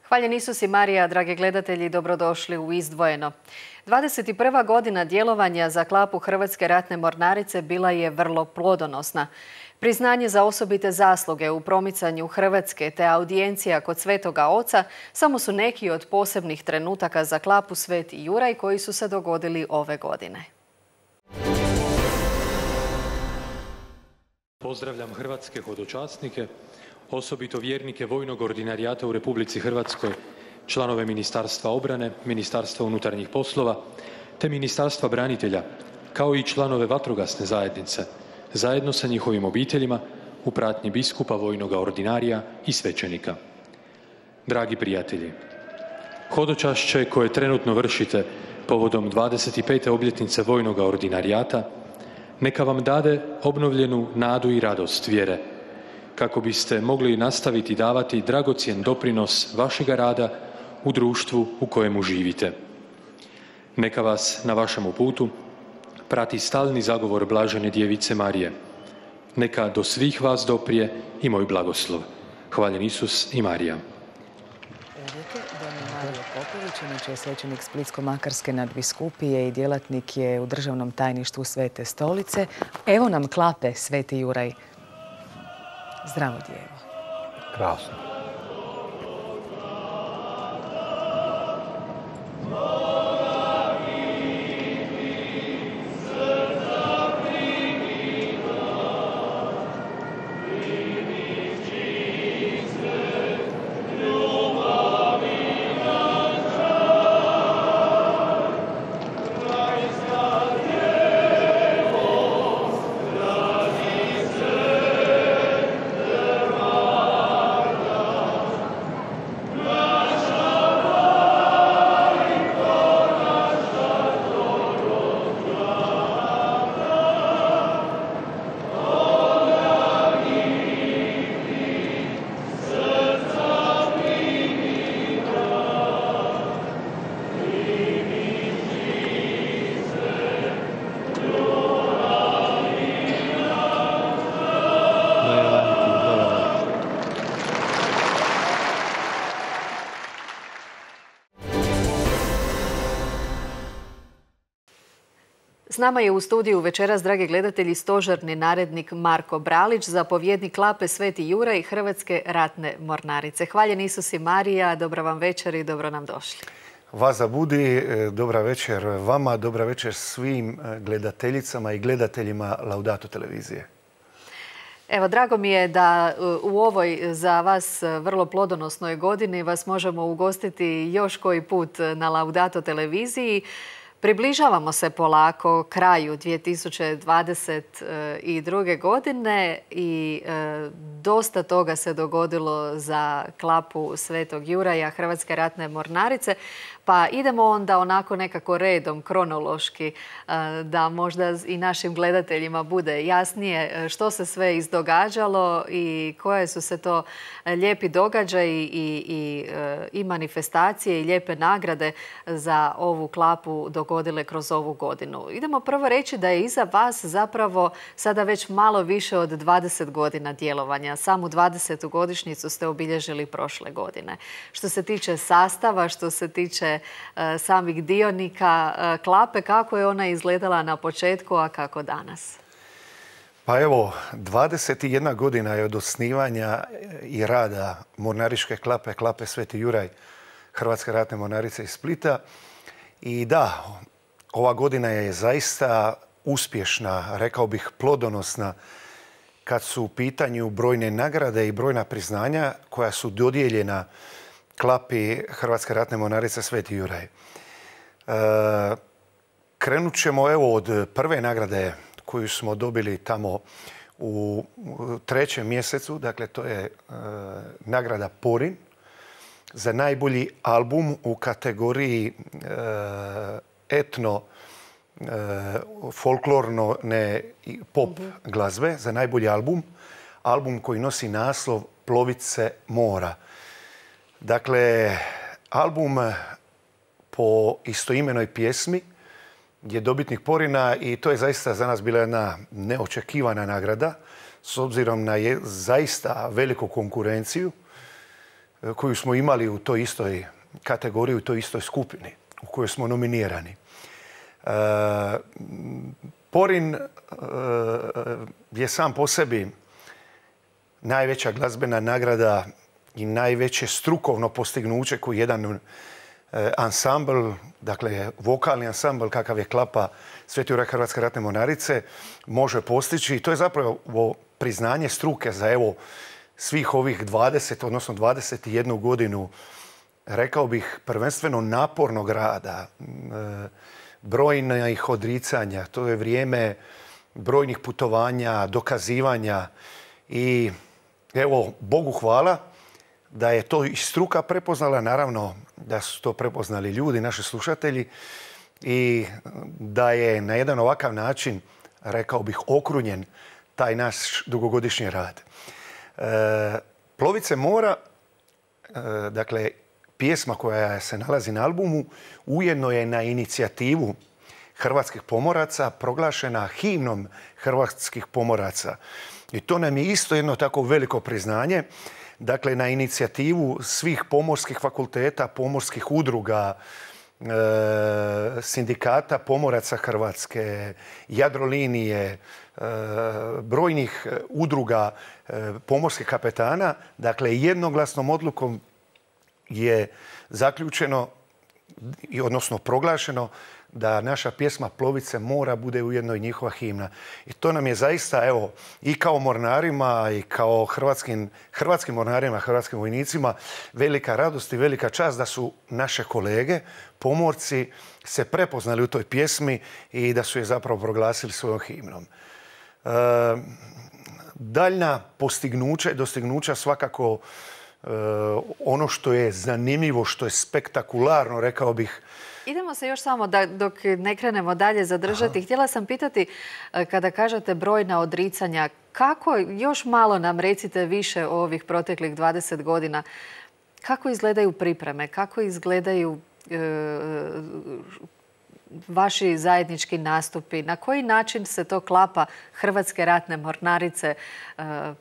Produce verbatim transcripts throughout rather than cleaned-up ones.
Hvaljen Isus i Marija, dragi gledatelji, dobrodošli u Izdvojeno. dvadeset prva godina djelovanja za klapu Hrvatske ratne mornarice bila je vrlo plodonosna. Priznanje za osobite zasluge u promicanju Hrvatske te audijencija kod Svetoga Oca samo su neki od posebnih trenutaka za klapu Sveti Juraj koji su se dogodili ove godine. Pozdravljam hrvatske hodočasnike, osobito vjernike vojnog ordinarijata u Republici Hrvatskoj, članove Ministarstva obrane, Ministarstva unutarnjih poslova te Ministarstva branitelja, kao i članove vatrogasne zajednice, zajedno sa njihovim obiteljima u pratnji biskupa vojnog ordinarija i svećenika. Dragi prijatelji, hodočašće koje trenutno vršite povodom dvadeset pete obljetnice vojnog ordinarijata neka vam dade obnovljenu nadu i radost vjere, kako biste mogli nastaviti davati dragocjen doprinos vašega rada u društvu u kojemu živite. Neka vas na vašemu putu prati stalni zagovor Blažene Djevice Marije. Neka do svih vas doprije i moj blagoslov. Hvaljen Isus i Marija. Mario Popović, inače je svećenik Splitsko-makarske nadbiskupije i djelatnik je u državnom tajništvu Svete stolice. Evo nam klape Sveti Juraj. Zdravo djevo. Krasno. S nama je u studiju večeras, dragi gledatelji, stožerni narednik Marko Bralić, zapovjednik klape Sveti Juraj Hrvatske ratne mornarice. Hvaljen Isus i Marija, dobra vam večer i dobro nam došli. Vas zabudi, dobra večer vama, dobra večer svim gledateljicama i gledateljima Laudato televizije. Evo, drago mi je da u ovoj za vas vrlo plodonosnoj godini vas možemo ugostiti još koji put na Laudato televiziji. Približavamo se polako kraju dvije tisuće dvadeset druge. godine i e, dosta toga se dogodilo za klapu Svetog Juraja Hrvatske ratne mornarice. Pa idemo onda onako nekako redom, kronološki, da možda i našim gledateljima bude jasnije što se sve izdogađalo i koje su se to lijepi događaji i, i, i manifestacije i lijepe nagrade za ovu klapu dogodile kroz ovu godinu. Idemo prvo reći da je iza vas zapravo sada već malo više od dvadeset godina djelovanja. Samu dvadesetu godišnjicu ste obilježili prošle godine. Što se tiče sastava, što se tiče samih dionika klape, kako je ona izgledala na početku, a kako danas? Pa evo, dvadeset jedna godina je od osnivanja i rada mornaričke klape, klape Sveti Juraj Hrvatske ratne mornarice iz Splita. I da, ova godina je zaista uspješna, rekao bih plodonosna, kad su u pitanju brojne nagrade i brojna priznanja koja su dodijeljena klapi Hrvatske ratne mornarice Sveti Juraj. E, krenut ćemo evo od prve nagrade koju smo dobili tamo u trećem mjesecu. Dakle, to je e, nagrada Porin za najbolji album u kategoriji e, etno, e, folklorno ne pop glazbe, za najbolji album. Album koji nosi naslov Plovice mora. Dakle, album po istoimenoj pjesmi je dobitnik Porina i to je zaista za nas bila jedna neočekivana nagrada s obzirom na je, zaista veliku konkurenciju. koju smo imali u toj istoj kategoriji, u toj istoj skupini u kojoj smo nominirani. Porin je sam po sebi najveća glazbena nagrada i najveće strukovno postignuće koji jedan ansambl, dakle vokalni ansambl kakav je Klapa Sveti Juraj Hrvatske ratne mornarice, može postići. I to je zapravo priznanje struke za evo svih ovih dvadeset, odnosno dvadeset jednu godinu, rekao bih, prvenstveno napornog rada, brojnih odricanja. To je vrijeme brojnih putovanja, dokazivanja i evo, Bogu hvala da je to i struka prepoznala, naravno da su to prepoznali ljudi, naši slušatelji, i da je na jedan ovakav način, rekao bih, okrunjen taj naš dugogodišnji rad. E, Plovice mora, e, dakle, pjesma koja se nalazi na albumu, ujedno je na inicijativu hrvatskih pomoraca proglašena himnom hrvatskih pomoraca. I to nam je isto jedno tako veliko priznanje. Dakle, na inicijativu svih pomorskih fakulteta, pomorskih udruga, e, sindikata pomoraca Hrvatske, Jadrolinije, e, brojnih udruga e, pomorskih kapetana, dakle, jednoglasnom odlukom je zaključeno, odnosno proglašeno, da naša pjesma Plovice mora bude ujedno i njihova himna. I to nam je zaista, evo, i kao mornarima i kao hrvatskim, hrvatskim mornarima, hrvatskim vojnicima, velika radost i velika čast da su naše kolege, pomorci, se prepoznali u toj pjesmi i da su je zapravo proglasili svojom himnom. E, daljna postignuća i dostignuća svakako e, ono što je zanimljivo, što je spektakularno, rekao bih. Idemo se još samo, da, dok ne krenemo dalje, zadržati. Aha. Htjela sam pitati, kada kažete brojna odricanja, kako, još malo nam recite više o ovih proteklih dvadeset godina, kako izgledaju pripreme, kako izgledaju e, vaši zajednički nastupi, na koji način se to Klapa Hrvatske ratne mornarice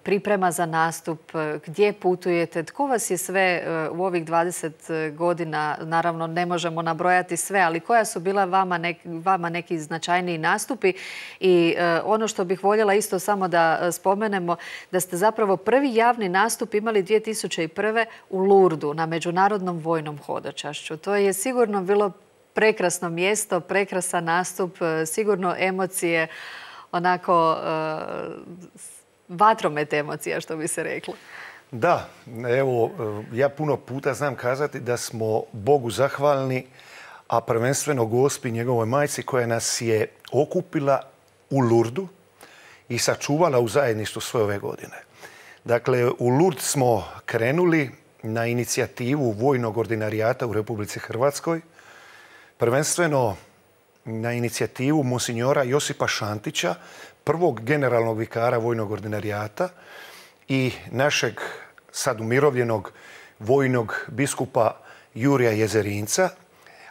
priprema za nastup, gdje putujete, tko vas je sve u ovih dvadeset godina, naravno ne možemo nabrojati sve, ali koja su bila vama neki, vama neki značajniji nastupi. I ono što bih voljela isto samo da spomenemo, da ste zapravo prvi javni nastup imali dvije tisuće prve. u Lurdu na Međunarodnom vojnom hodočašću. To je sigurno bilo prekrasno mjesto, prekrasan nastup, sigurno emocije, onako vatromet emocija, što bi se reklo. Da, evo, ja puno puta znam kazati da smo Bogu zahvalni, a prvenstveno Gospi, njegovoj majci, koja nas je okupila u Lurdu i sačuvala u zajedništvu sve ove godine. Dakle, u Lurd smo krenuli na inicijativu Vojnog ordinarijata u Republici Hrvatskoj, prvenstveno na inicijativu monsinjora Josipa Šantića, prvog generalnog vikara Vojnog ordinarijata i našeg sad umirovljenog vojnog biskupa Jurija Jezerinca,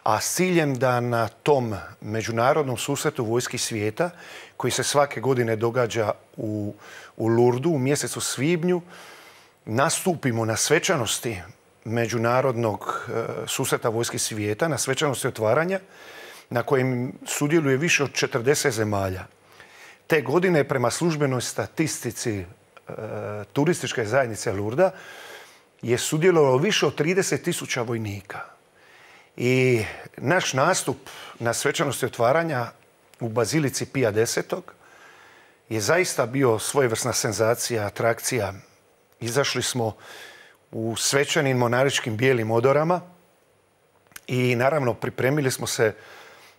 a s ciljem da na tom međunarodnom susretu vojski svijeta, koji se svake godine događa u, u Lurdu u mjesecu svibnju, nastupimo na svečanosti međunarodnog susreta vojski svijeta, na svečanosti otvaranja, na kojem sudjeluje više od četrdeset zemalja. Te godine, prema službenoj statistici e, turističke zajednice Lurda, je sudjelovalo više od trideset tisuća vojnika. I naš nastup na svečanosti otvaranja u Bazilici Pija desetog je zaista bio svojevrsna senzacija, atrakcija. Izašli smo u svečanim monaričkim bijelim odorama i naravno pripremili smo se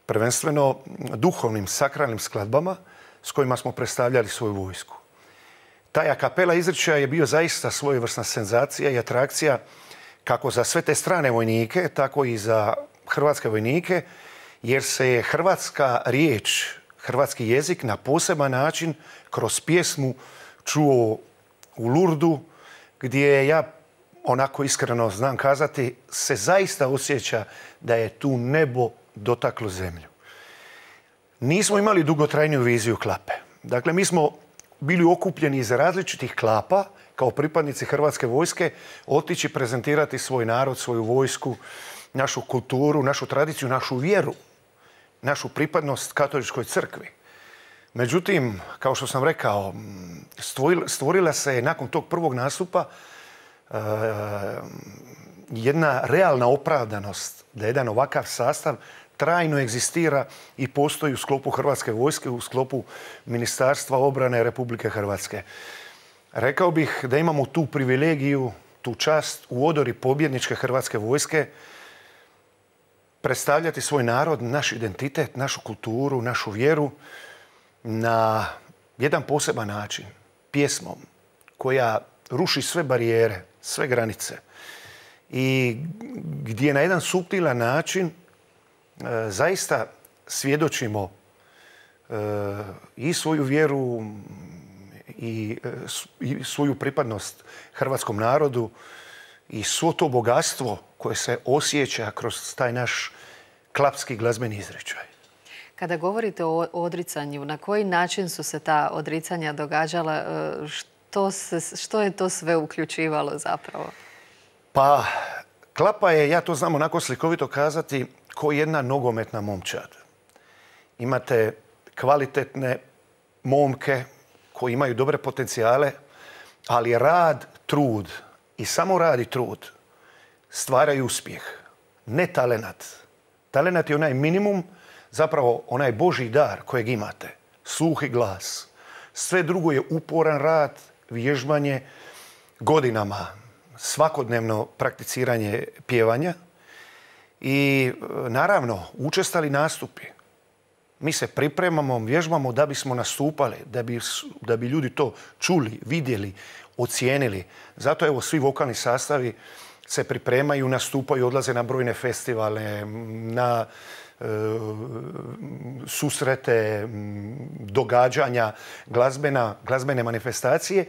prvenstveno duhovnim, sakralnim skladbama s kojima smo predstavljali svoju vojsku. Taj a kapela izričaj je bio zaista svojevrsna senzacija i atrakcija kako za sve te strane vojnike, tako i za hrvatske vojnike, jer se je hrvatska riječ, hrvatski jezik na poseban način kroz pjesmu čuo u Lurdu, gdje ja, onako iskreno znam kazati, se zaista osjeća da je tu nebo dotaklo zemlju. Nismo imali dugotrajniju viziju Klape. Dakle, mi smo bili okupljeni iz različitih klapa kao pripadnici Hrvatske vojske otići prezentirati svoj narod, svoju vojsku, našu kulturu, našu tradiciju, našu vjeru, našu pripadnost katoličkoj crkvi. Međutim, kao što sam rekao, stvorila se nakon tog prvog nastupa jedna realna opravdanost da jedan ovakav sastav trajno egzistira i postoji u sklopu Hrvatske vojske, u sklopu Ministarstva obrane Republike Hrvatske. Rekao bih da imamo tu privilegiju, tu čast u odori pobjedničke Hrvatske vojske predstavljati svoj narod, naš identitet, našu kulturu, našu vjeru na jedan poseban način, pjesmom koja ruši sve barijere, sve granice i gdje na jedan suptilan način e, zaista svjedočimo e, i svoju vjeru i, e, i svoju pripadnost hrvatskom narodu i svo to bogatstvo koje se osjeća kroz taj naš klapski glazbeni izričaj. Kada govorite o odricanju, na koji način su se ta odricanja događala? Što, se, što je to sve uključivalo zapravo? Pa, klapa je, ja to znam onako slikovito kazati, ko jedna nogometna momčad. Imate kvalitetne momke koji imaju dobre potencijale, ali rad, trud i samo rad i trud stvaraju uspjeh. Ne talenat. Talenat je onaj minimum, zapravo onaj Božji dar kojeg imate. Sluh i glas. Sve drugo je uporan rad, vježbanje, godinama, svakodnevno prakticiranje pjevanja i naravno učestali nastupi. Mi se pripremamo, vježbamo da bismo nastupali, da bi, da bi ljudi to čuli, vidjeli, ocijenili. Zato evo svi vokalni sastavi se pripremaju, nastupaju, odlaze na brojne festivale, na e, susrete, događanja, glazbena, glazbene manifestacije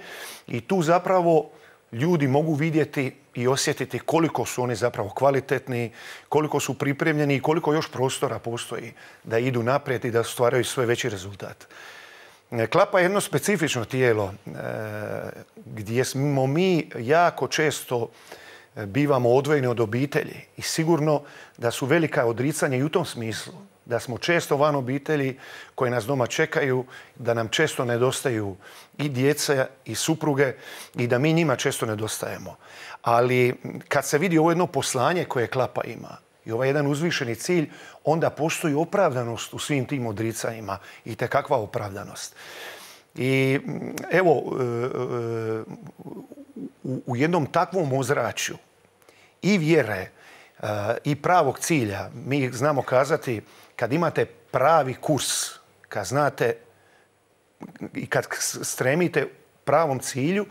i tu zapravo ljudi mogu vidjeti i osjetiti koliko su oni zapravo kvalitetni, koliko su pripremljeni i koliko još prostora postoji da idu naprijed i da stvaraju sve veći rezultat. Klapa je jedno specifično tijelo gdje smo mi jako često bivamo odvojeni od obitelji i sigurno da su velika odricanja i u tom smislu. Da smo često van obitelji koje nas doma čekaju, da nam često nedostaju i djeca i supruge i da mi njima često nedostajemo. Ali kad se vidi ovo jedno poslanje koje Klapa ima i ovaj jedan uzvišeni cilj, onda postoji opravdanost u svim tim odricanjima i tekakva opravdanost. I evo, u jednom takvom ozračju i vjere i pravog cilja, mi znamo kazati kad imate pravi kurs, kad znate i kad stremite pravom cilju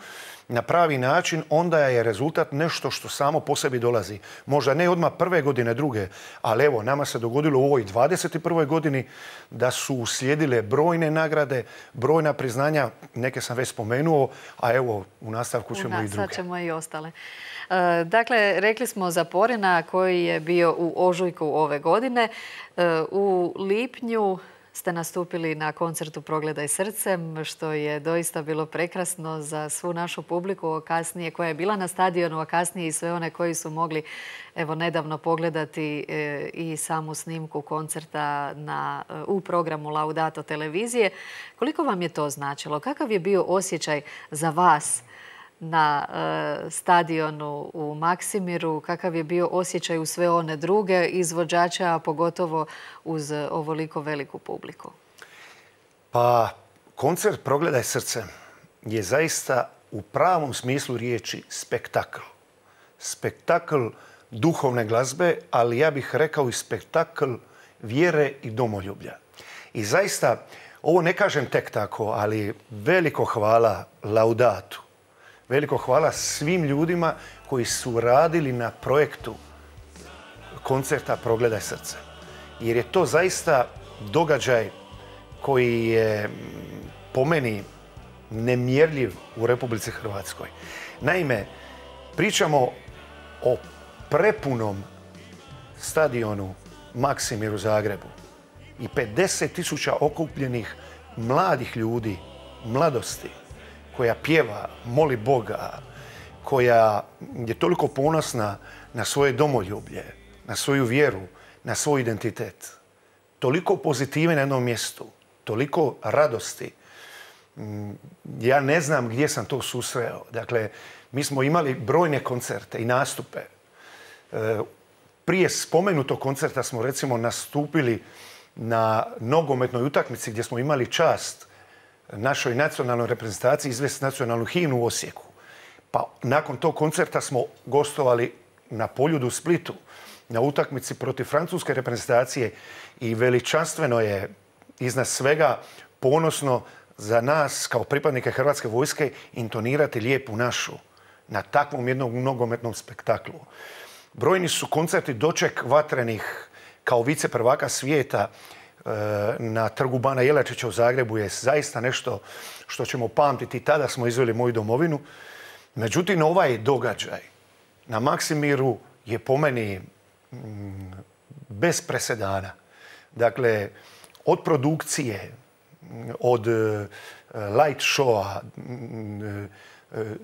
na pravi način, onda je rezultat nešto što samo po sebi dolazi. Možda ne odmah prve godine, druge, ali evo, nama se dogodilo u ovoj dvadeset prvoj godini da su uslijedile brojne nagrade, brojna priznanja, neke sam već spomenuo, a evo, u nastavku ćemo i druge. Sad ćemo i ostale. Dakle, rekli smo za Porina koji je bio u ožujku ove godine. U lipnju ste nastupili na koncertu Progledaj srcem, što je doista bilo prekrasno za svu našu publiku kasnije koja je bila na stadionu, a kasnije i sve one koji su mogli evo nedavno pogledati i samu snimku koncerta na, u programu Laudato televizije. Koliko vam je to značilo? Kakav je bio osjećaj za vas na e, stadionu u Maksimiru, kakav je bio osjećaj u sve one druge izvođače, a pogotovo uz ovoliko veliku publiku? Pa, koncert Progledaj srcem je zaista u pravom smislu riječi spektakl. Spektakl duhovne glazbe, ali ja bih rekao i spektakl vjere i domoljublja. I zaista, ovo ne kažem tek tako, ali veliko hvala Laudatu. Veliko hvala svim ljudima koji su radili na projektu koncerta Progledaj srce. Jer je to zaista događaj koji je po meni nemjerljiv u Republici Hrvatskoj. Naime, pričamo o prepunom stadionu Maksimir u Zagrebu i pedeset tisuća okupljenih mladih ljudi, mladosti, koja pjeva, moli Boga, koja je toliko ponosna na svoje domoljublje, na svoju vjeru, na svoj identitet. Toliko pozitive na jednom mjestu, toliko radosti. Ja ne znam gdje sam to susreo. Dakle, mi smo imali brojne koncerte i nastupe. Prije spomenutog koncerta smo recimo nastupili na nogometnoj utakmici gdje smo imali čast našoj nacionalnoj reprezentaciji izvesti nacionalnu himnu u Osijeku. Pa nakon tog koncerta smo gostovali na Poljudu u Splitu, na utakmici protiv francuske reprezentacije i veličanstveno je iznad svega ponosno za nas kao pripadnike Hrvatske vojske intonirati Lijepu našu na takvom jednom nogometnom spektaklu. Brojni su koncerti doček vatrenih kao viceprvaka svijeta na trgu Bana Jelačića u Zagrebu je zaista nešto što ćemo pamtiti. Tada smo izveli moju domovinu. Međutim, ovaj događaj na Maksimiru je po meni bez presedana. Dakle, od produkcije, od light showa,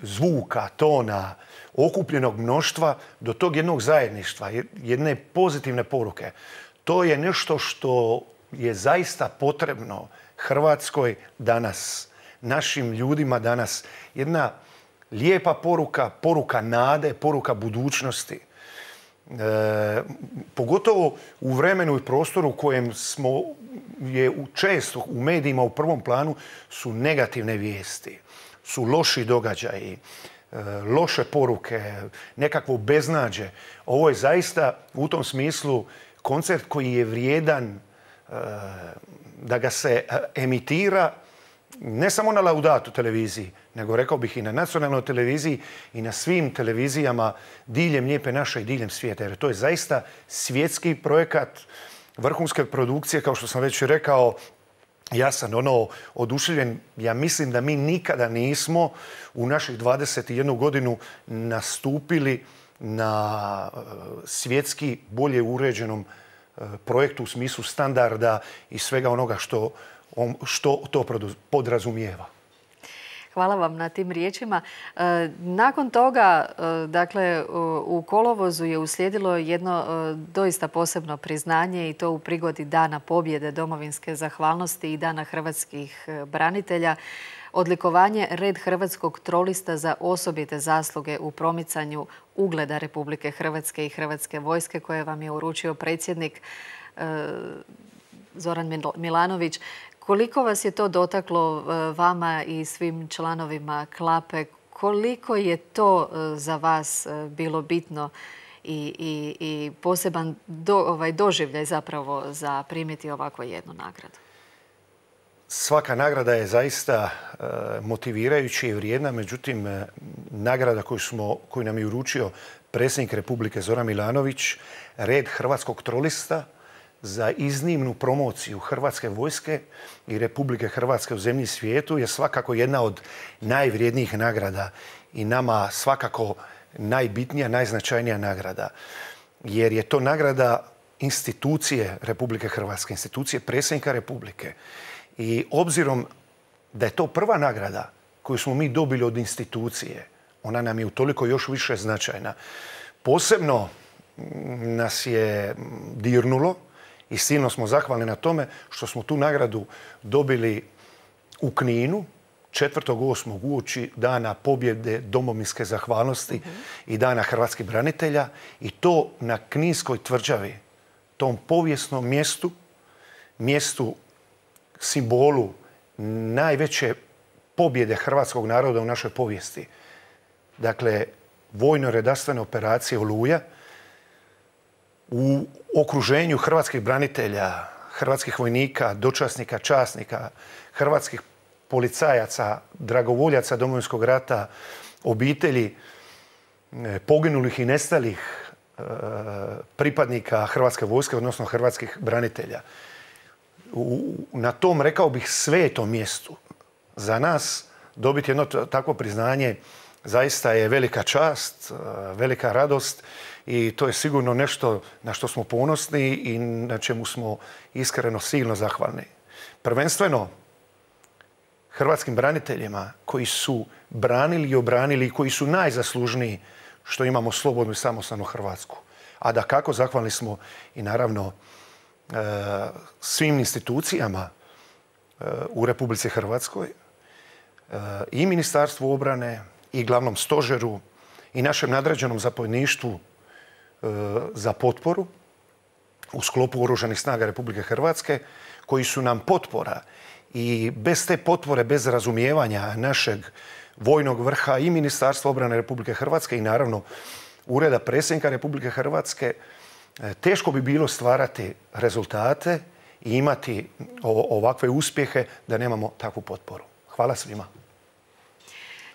zvuka, tona, okupljenog mnoštva do tog jednog zajedništva, jedne pozitivne poruke. To je nešto što je zaista potrebno Hrvatskoj danas, našim ljudima danas. Jedna lijepa poruka, poruka nade, poruka budućnosti. E, pogotovo u vremenu i prostoru u kojem smo je često u medijima u prvom planu su negativne vijesti, su loši događaji, e, loše poruke, nekakvo beznađe. Ovo je zaista u tom smislu koncert koji je vrijedan e, da ga se emitira ne samo na Laudatu televiziji, nego rekao bih i na nacionalnoj televiziji i na svim televizijama diljem Lijepe naše i diljem svijeta. Jer to je zaista svjetski projekat vrhunske produkcije, kao što sam već rekao. Ja sam ono oduševljen. Ja mislim da mi nikada nismo u naših dvadeset jednu godinu nastupili na svjetski bolje uređenom projektu u smislu standarda i svega onoga što, što to podrazumijeva. Hvala vam na tim riječima. Nakon toga, dakle, u kolovozu je uslijedilo jedno doista posebno priznanje i to u prigodi Dana pobjede, domovinske zahvalnosti i Dana hrvatskih branitelja. Odlikovanje Red hrvatskog trolista za osobite zasluge u promicanju ugleda Republike Hrvatske i Hrvatske vojske koje vam je uručio predsjednik Zoran Milanović. Koliko vas je to dotaklo vama i svim članovima Klape? Koliko je to za vas bilo bitno i, i, i poseban do, ovaj, doživljaj zapravo za primiti ovakvu jednu nagradu? Svaka nagrada je zaista e, motivirajuća i vrijedna, međutim, e, nagrada koju, smo, koju nam je uručio predsjednik Republike Zoran Milanović, Red hrvatskog trolista, za iznimnu promociju Hrvatske vojske i Republike Hrvatske u zemlji i svijetu je svakako jedna od najvrijednijih nagrada i nama svakako najbitnija, najznačajnija nagrada. Jer je to nagrada institucije Republike Hrvatske, institucije predsjednika Republike. I obzirom da je to prva nagrada koju smo mi dobili od institucije, ona nam je utoliko još više značajna. Posebno nas je dirnulo i silno smo zahvalni na tome što smo tu nagradu dobili u Kninu četvrtog osmog uoči Dana pobjede, domovinske zahvalnosti mm-hmm. i Dana hrvatskih branitelja i to na Kninskoj tvrđavi, tom povijesnom mjestu, mjestu simbolu najveće pobjede hrvatskog naroda u našoj povijesti. Dakle, vojno-redarstvene operacije Oluja, u okruženju hrvatskih branitelja, hrvatskih vojnika, dočasnika, časnika, hrvatskih policajaca, dragovoljaca Domovinskog rata, obitelji poginulih i nestalih pripadnika Hrvatske vojske, odnosno hrvatskih branitelja. U, na tom, rekao bih, svetom mjestu za nas dobiti jedno takvo priznanje zaista je velika čast, velika radost i to je sigurno nešto na što smo ponosni i na čemu smo iskreno silno zahvalni. Prvenstveno hrvatskim braniteljima koji su branili i obranili i koji su najzaslužniji što imamo slobodnu i samostalnu Hrvatsku. A da kako zahvalni smo i naravno svim institucijama u Republici Hrvatskoj, i Ministarstvu obrane, i glavnom stožeru, i našem nadređenom zapovjedništvu za potporu u sklopu Oružanih snaga Republike Hrvatske, koji su nam potpora. I bez te potpore, bez razumijevanja našeg vojnog vrha i Ministarstva obrane Republike Hrvatske i naravno Ureda predsjednika Republike Hrvatske, teško bi bilo stvarati rezultate i imati ovakve uspjehe da nemamo takvu potporu. Hvala svima.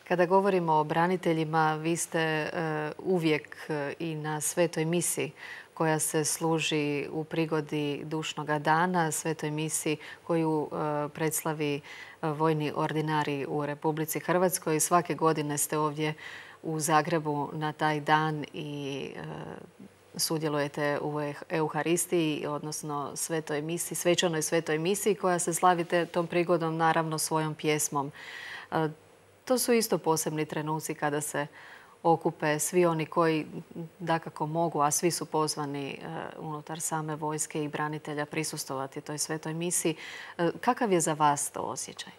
Kada govorimo o braniteljima, vi ste uvijek i na svetoj misi koja se služi u prigodi Dušnoga dana, svetoj misi koju predslavi vojni ordinari u Republici Hrvatskoj. Svake godine ste ovdje u Zagrebu na taj dan i sudjelujete u Euharistiji, odnosno svetoj misi, svečanoj svetoj misiji koja se slavite tom prigodom naravno svojom pjesmom. To su isto posebni trenuci kada se okupe svi oni koji dakako mogu, a svi su pozvani unutar same vojske i branitelja prisustvovati toj svetoj misiji. Kakav je za vas to osjećaj?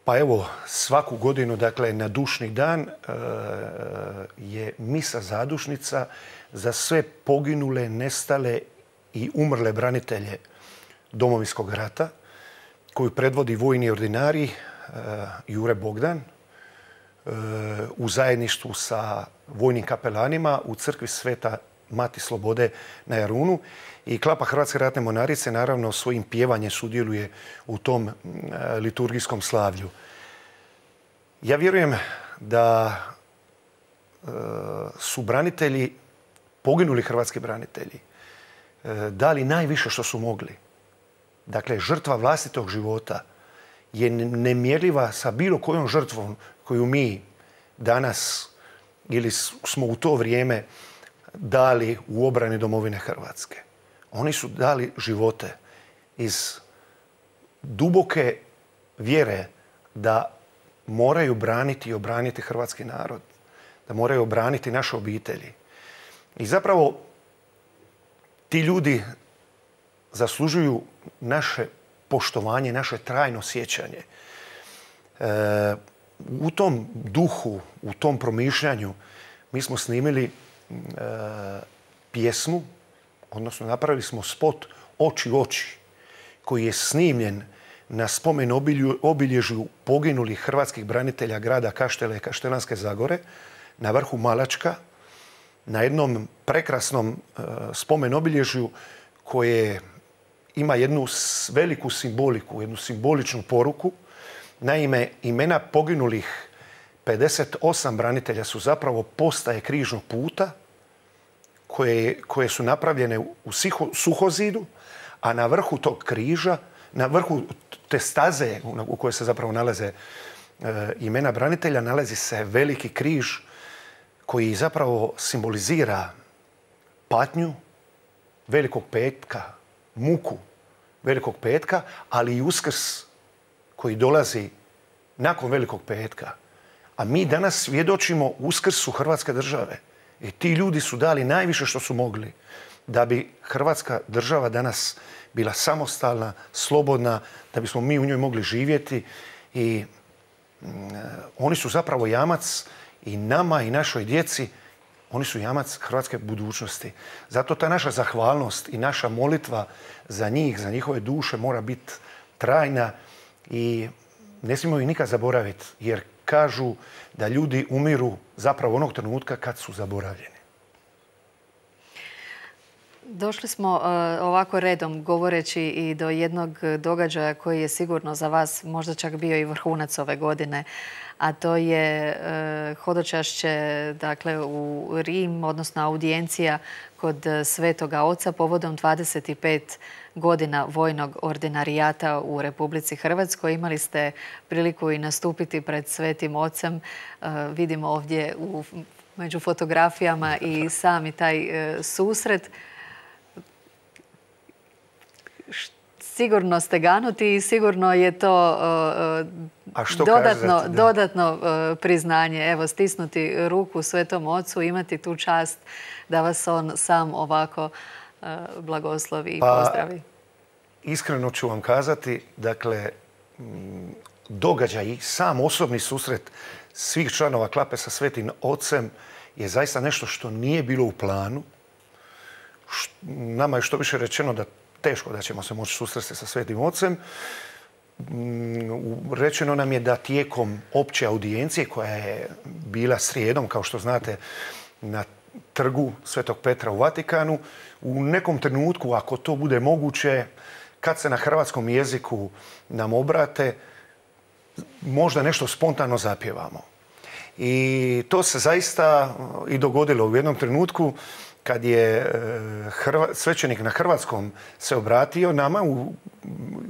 Pa evo, svaku godinu, dakle, na Dušni dan je misa zadušnica za sve poginule, nestale i umrle branitelje Domovinskog rata, koju predvodi vojni ordinari Jure Bogdan u zajedništvu sa vojnim kapelanima u crkvi Sveta Mati Slobode na Jarunu. I Klapa Hrvatske ratne mornarice naravno svojim pjevanjem sudjeluje u tom liturgijskom slavlju. Ja vjerujem da su branitelji, poginuli hrvatski branitelji, dali najviše što su mogli. Dakle, žrtva vlastitog života je nemjerljiva sa bilo kojom žrtvom koju mi danas ili smo u to vrijeme dali u obrani domovine Hrvatske. Oni su dali živote iz duboke vjere da moraju braniti i obraniti hrvatski narod, da moraju obraniti naše obitelji. I zapravo ti ljudi zaslužuju naše poštovanje, naše trajno sjećanje. E, u tom duhu, u tom promišljanju mi smo snimili e, pjesmu, odnosno napravili smo spot Oči oči, koji je snimljen na spomen obilježju poginulih hrvatskih branitelja grada Kaštela i Kaštelanske Zagore na vrhu Malačka, na jednom prekrasnom e, spomen obilježju koje ima jednu veliku simboliku, jednu simboličnu poruku. Naime, imena poginulih pedeset osam branitelja su zapravo postaje križnog puta koje, koje su napravljene u Suhozidu, a na vrhu tog križa, na vrhu te staze u kojoj se zapravo nalaze e, imena branitelja, nalazi se veliki križ koji zapravo simbolizira patnju Velikog petka, muku Velikog petka, ali i Uskrs koji dolazi nakon Velikog petka. A mi danas svjedočimo Uskrsu Hrvatske države. I ti ljudi su dali najviše što su mogli da bi Hrvatska država danas bila samostalna, slobodna, da bismo mi u njoj mogli živjeti. I mm, oni su zapravo jamac i nama i našoj djeci, oni su jamac hrvatske budućnosti. Zato ta naša zahvalnost i naša molitva za njih, za njihove duše mora biti trajna i ne smijemo ih nikad zaboraviti, jer kažu da ljudi umiru zapravo onog trenutka kad su zaboravljeni. Došli smo uh, ovako redom govoreći i do jednog događaja koji je sigurno za vas možda čak bio i vrhunac ove godine, a to je uh, hodočašće dakle, u Rim, odnosno audijencija kod Svetoga Oca povodom dvadeset pet godina vojnog ordinarijata u Republici Hrvatskoj. Imali ste priliku i nastupiti pred Svetim Ocem. Uh, vidimo ovdje u, među fotografijama i sami taj uh, susret. sigurno steganuti i sigurno je to dodatno, dodatno priznanje. Evo, stisnuti ruku Svetom Ocu, imati tu čast da vas on sam ovako blagoslovi i pozdravi. Iskreno ću vam kazati, dakle, događaj, sam osobni susret svih članova Klape sa Svetim Ocem je zaista nešto što nije bilo u planu. Nama je što više rečeno da teško da ćemo se moći susresti sa Svetim Ocem. Rečeno nam je da tijekom opće audijencije koja je bila srijedom, kao što znate, na trgu Svetog Petra u Vatikanu, u nekom trenutku, ako to bude moguće, kad se na hrvatskom jeziku nam obrate, možda nešto spontano zapjevamo. I to se zaista i dogodilo u jednom trenutku kad je svećenik na hrvatskom se obratio nama u,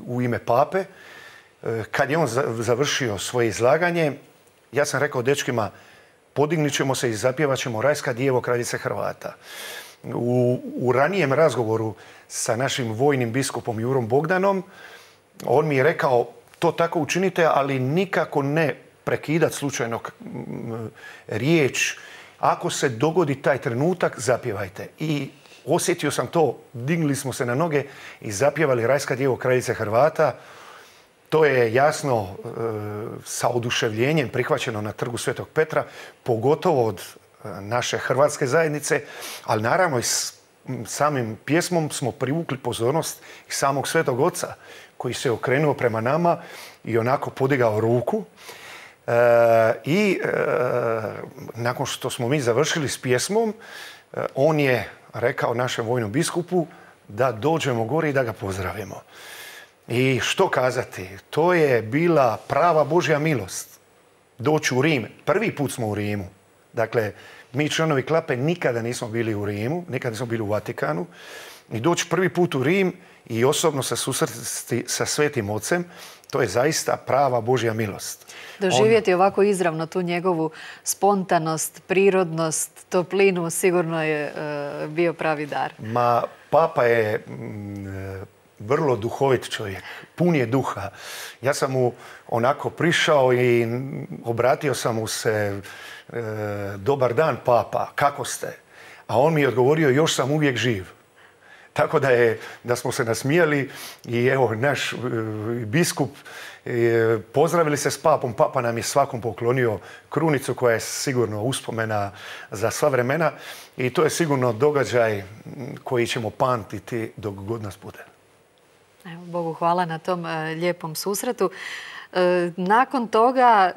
u ime pape. Kad je on završio svoje izlaganje, ja sam rekao dečkima, podignit ćemo se i zapjevat ćemo Rajska djevo kraljice Hrvata. U, u ranijem razgovoru sa našim vojnim biskupom Jurom Bogdanom, on mi je rekao, to tako učinite, ali nikako ne prekidati slučajno riječ. Ako se dogodi taj trenutak, zapjevajte. I osjetio sam to, digli smo se na noge i zapjevali Rajska djevo kraljice Hrvata. To je jasno sa oduševljenjem prihvaćeno na trgu Svetog Petra, pogotovo od naše hrvatske zajednice, ali naravno i s samim pjesmom smo privukli pozornost i samog Svetog Oca, koji se okrenuo prema nama i onako podigao ruku. E, I e, nakon što smo mi završili s pjesmom, e, on je rekao našem vojnom biskupu da dođemo gore i da ga pozdravimo. I što kazati, to je bila prava Božja milost. Doći u Rim. Prvi put smo u Rimu. Dakle, mi članovi Klape nikada nismo bili u Rimu, nikada nismo bili u Vatikanu. I doći prvi put u Rim i osobno se susresti sa Svetim Ocem, to je zaista prava Božja milost. Doživjeti On... ovako izravno tu njegovu spontanost, prirodnost, toplinu, sigurno je uh, bio pravi dar. Ma, papa je m, vrlo duhovit čovjek, pun je duha. Ja sam mu onako prišao i obratio sam mu se, e, dobar dan papa, kako ste? A on mi je odgovorio, još sam uvijek živ. Tako da, je, da smo se nasmijali i evo naš e, biskup e, pozdravili se s papom. Papa nam je svakom poklonio krunicu koja je sigurno uspomena za sva vremena i to je sigurno događaj koji ćemo pamtiti dok god nas bude. Evo, Bogu hvala na tom e, lijepom susretu. E, nakon toga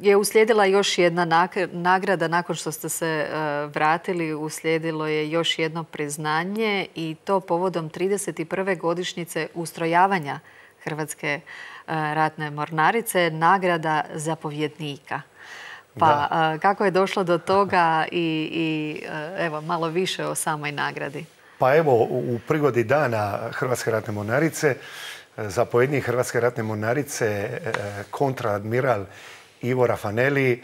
je uslijedila još jedna nagrada. Nakon što ste se e, vratili, uslijedilo je još jedno priznanje i to povodom trideset prve godišnjice ustrojavanja Hrvatske e, ratne mornarice, nagrada zapovjednika. Pa e, kako je došlo do toga i, i e, evo, malo više o samoj nagradi? Pa evo, u prigodi dana Hrvatske ratne mornarice, zapovjednik Hrvatske ratne mornarice, kontraadmiral Ivo Rafaneli,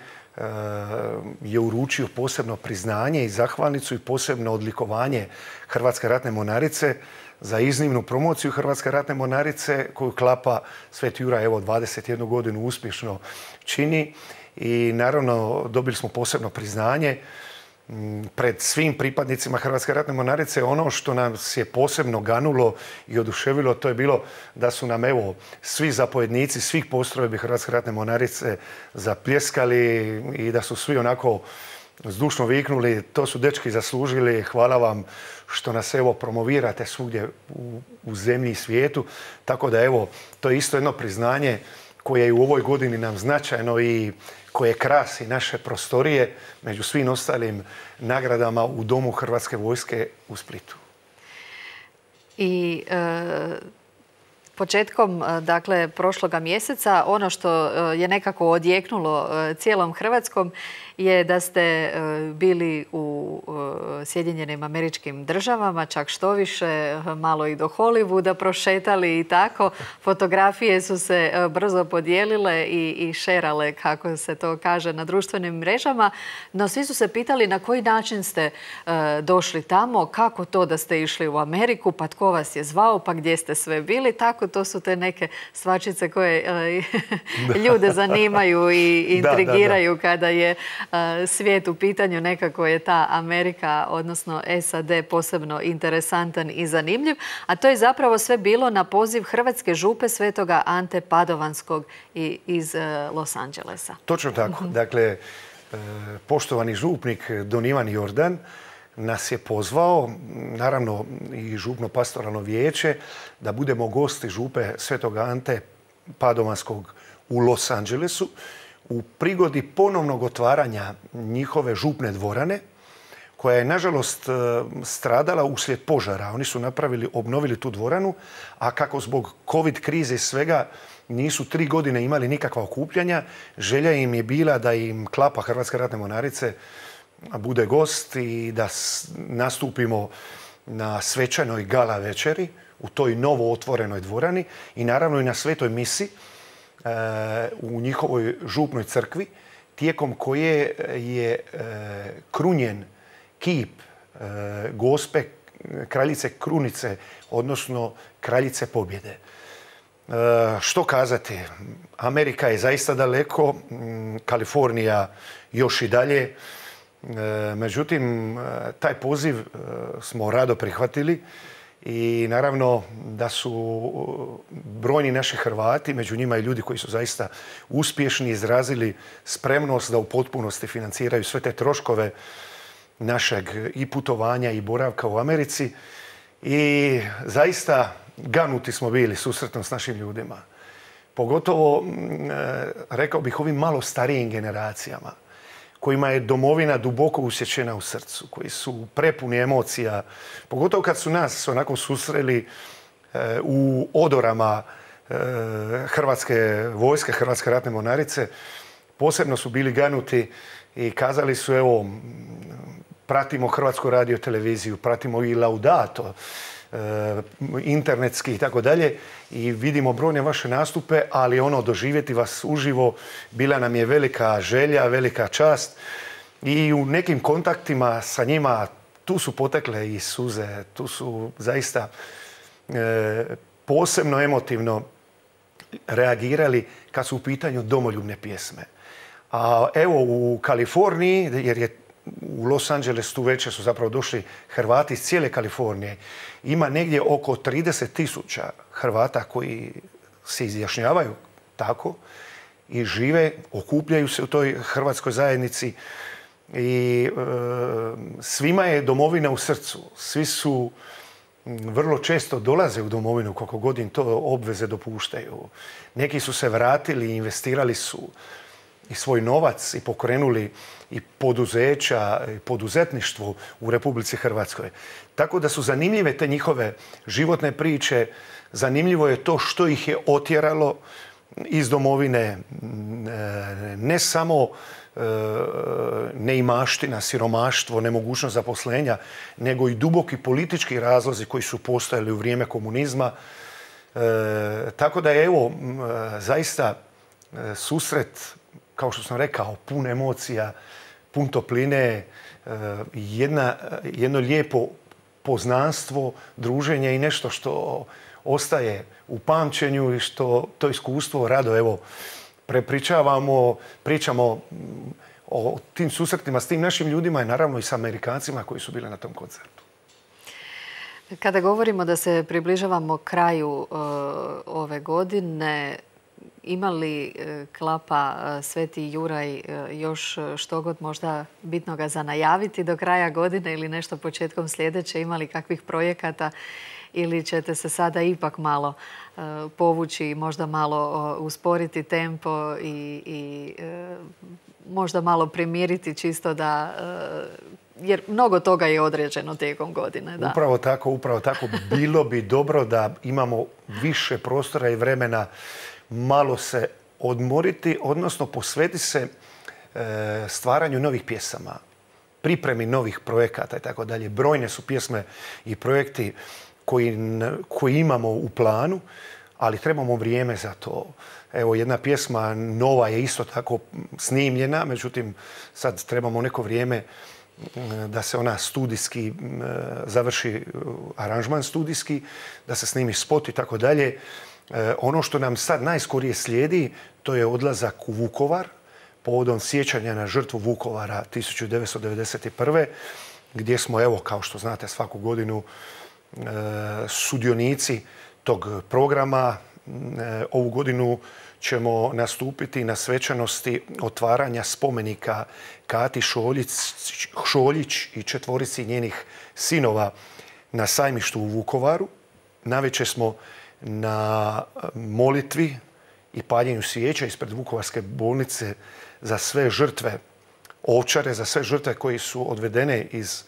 je uručio posebno priznanje i zahvalnicu i posebno odlikovanje Hrvatske ratne mornarice za iznimnu promociju Hrvatske ratne mornarice koju Klapa Sveti Juraj evo dvadeset jednu godinu uspješno čini. I naravno dobili smo posebno priznanje pred svim pripadnicima Hrvatske ratne mornarice. Ono što nas je posebno ganulo i oduševilo, to je bilo da su nam evo svi zapovjednici svih postrojbi Hrvatske ratne mornarice zapljeskali i da su svi onako zdušno viknuli, to su dečki zaslužili, hvala vam što nas evo promovirate svugdje u, u zemlji i svijetu. Tako da evo, to je isto jedno priznanje koje je u ovoj godini nam značajno i koje krasi naše prostorije među svim ostalim nagradama u Domu Hrvatske vojske u Splitu. I e, početkom dakle, prošloga mjeseca ono što je nekako odjeknulo cijelom Hrvatskom je da ste bili u Sjedinjenim Američkim Državama, čak što više, malo i do Hollywooda prošetali i tako. Fotografije su se brzo podijelile i, i šerale, kako se to kaže, na društvenim mrežama. No svi su se pitali na koji način ste došli tamo, kako to da ste išli u Ameriku, pa tko vas je zvao, pa gdje ste sve bili. Tako tako, to su te neke stvačice koje ljude zanimaju i intrigiraju kada je svijet u pitanju. Nekako je ta Amerika, odnosno S A D, posebno interesantan i zanimljiv. A to je zapravo sve bilo na poziv Hrvatske župe Svetoga Ante Padovanskog iz Los Angelesa. Točno tako. Dakle, poštovani župnik don Ivan Jordan nas je pozvao, naravno i župno pastoralno vijeće, da budemo gosti župe Svetog Ante Padovanskog u Los Angelesu u prigodi ponovnog otvaranja njihove župne dvorane, koja je nažalost stradala uslijed požara. Oni su napravili, obnovili tu dvoranu, a kako zbog covid krize i svega nisu tri godine imali nikakva okupljanja, želja im je bila da im klapa Hrvatske ratne mornarice bude gost i da nastupimo na svečanoj gala večeri u toj novo otvorenoj dvorani i naravno i na svetoj misi u njihovoj župnoj crkvi, tijekom koje je krunjen kip Gospe kraljice Krunice, odnosno kraljice pobjede. Što kazati? Amerika je zaista daleko, Kalifornija još i dalje. Međutim, taj poziv smo rado prihvatili i naravno da su brojni naši Hrvati, među njima i ljudi koji su zaista uspješni, izrazili spremnost da u potpunosti financiraju sve te troškove našeg i putovanja i boravka u Americi. I zaista ganuti smo bili susretom s našim ljudima. Pogotovo, rekao bih, ovim malo starijim generacijama, kojima je domovina duboko usjećena u srcu, koji su prepuni emocija, pogotovo kad su nas onako susreli u odorama Hrvatske vojske, Hrvatske ratne mornarice. Posebno su bili ganuti i kazali su, evo, pratimo Hrvatsku radioteleviziju, pratimo i Laudato, internetski i tako dalje, i vidimo brojne vaše nastupe, ali ono, doživjeti vas uživo bila nam je velika želja, velika čast i u nekim kontaktima sa njima tu su potekle i suze, tu su zaista e, posebno emotivno reagirali kad su u pitanju domoljubne pjesme. A evo u Kaliforniji, jer je u Los Angeles tu večer su zapravo došli Hrvati iz cijele Kalifornije. Ima negdje oko trideset tisuća Hrvata koji se izjašnjavaju tako i žive, okupljaju se u toj hrvatskoj zajednici i e, svima je domovina u srcu. Svi su vrlo često dolaze u domovinu koliko god im to obveze dopuštaju. Neki su se vratili i investirali su i svoj novac i pokrenuli i poduzeća i poduzetništvo u Republici Hrvatskoj. Tako da su zanimljive te njihove životne priče. Zanimljivo je to što ih je otjeralo iz domovine, ne samo neimaština, siromaštvo, nemogućnost zaposlenja, nego i duboki politički razlozi koji su postojali u vrijeme komunizma. Tako da je, evo, zaista susret, kao što sam rekao, pun emocija, pun topline, jedna, jedno lijepo poznanstvo, druženje i nešto što ostaje u pamćenju i što to iskustvo rado, evo, prepričavamo, pričamo o tim susretima s tim našim ljudima i naravno i s Amerikancima koji su bili na tom koncertu. Kada govorimo da se približavamo kraju uh, ove godine, ima li klapa Sveti Juraj još što god možda bitnoga za najaviti do kraja godine ili nešto početkom sljedeće? Ima li kakvih projekata ili ćete se sada ipak malo povući i možda malo usporiti tempo i, i možda malo primiriti čisto da... Jer mnogo toga je određeno tijekom godine. Da. Upravo tako, upravo tako. Bilo bi dobro da imamo više prostora i vremena malo se odmoriti, odnosno posveti se stvaranju novih pjesama, pripremi novih projekata i tako dalje. Brojne su pjesme i projekti koji, koji imamo u planu, ali trebamo vrijeme za to. Evo, jedna pjesma nova je isto tako snimljena, međutim sad trebamo neko vrijeme da se ona studijski završi, aranžman studijski, da se snimi spot i tako dalje. Ono što nam sad najskorije slijedi, to je odlazak u Vukovar, povodom sjećanja na žrtvu Vukovara tisuću devetsto devedeset prve. gdje smo, evo, kao što znate, svaku godinu sudionici tog programa. Ovu godinu ćemo nastupiti na svečanosti otvaranja spomenika Kati Šoljić i četvorici njenih sinova na sajmištu u Vukovaru. Navečer smo na molitvi i paljenju svijeća ispred Vukovarske bolnice za sve žrtve Ovčare, za sve žrtve koji su odvedene iz